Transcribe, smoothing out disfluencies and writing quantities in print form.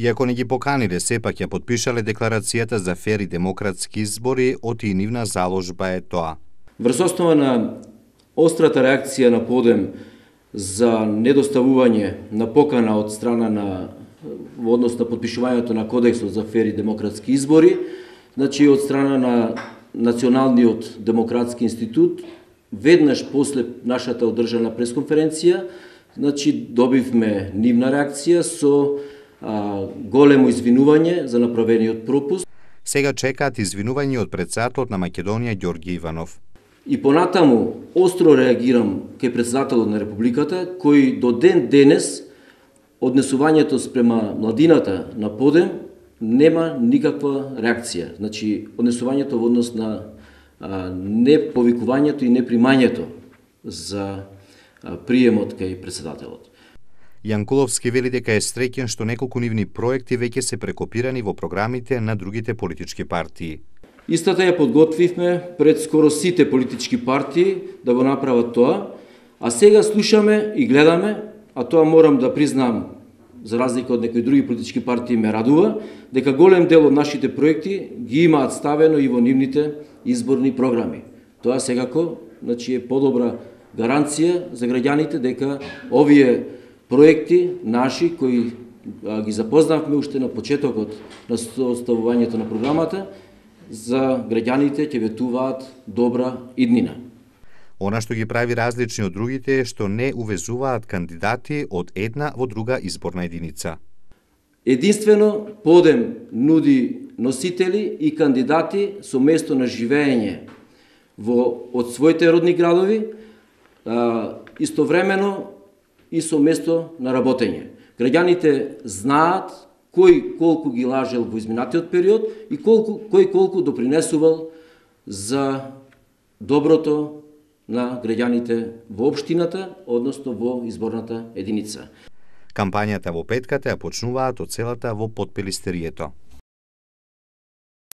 Иако не ги поканиле, сепак ја потпишале декларацијата за фер и демократски избори, оти и нивна заложба е тоа. Врз основа на острата реакција на Подем за недоставување на покана од страна на во однос на потпишувањето на Кодексот за фер и демократски избори, значи од страна на Националниот демократски институт, веднаш после нашата одржана пресконференција, значи добивме нивна реакција со големо извинување за направениот пропуст. Сега чекаат извинување од претседателот на Македонија Ѓорги Иванов. И понатаму остро реагирам кај претседателот на Републиката, кој до ден денес однесувањето спрема младината на Подем нема никаква реакција. Значи, однесувањето во однос на неповикувањето и непримањето за приемот кај претседателот. Јанкуловски вели дека е среќен што неколку нивни проекти веќе се прекопирани во програмите на другите политички партии. Истата ја подготвивме пред скоро сите политички партии да го направат тоа, а сега слушаме и гледаме, а тоа морам да признам, за разлика од некои други политички партии ме радува, дека голем дел од нашите проекти ги имаат ставено и во нивните изборни програми. Тоа секако, значи, е подобра гаранција за граѓаните дека овие проекти наши кои ги запознавме уште на почетокот на составувањето на програмата, за граѓаните ќе ветуваат добра иднина. Она што ги прави различни од другите е што не увезуваат кандидати од една во друга изборна единица. Единствено Подем нуди носители и кандидати со место на живење од своите родни градови, истовремено и со место на работење. Граѓаните знаат кој колку ги лажел во изминатиот период и кој колку допринесувал за доброто на граѓаните во општината, односно во изборната единица. Кампањата во петката ја почнуваат од селата во Потпелистерието.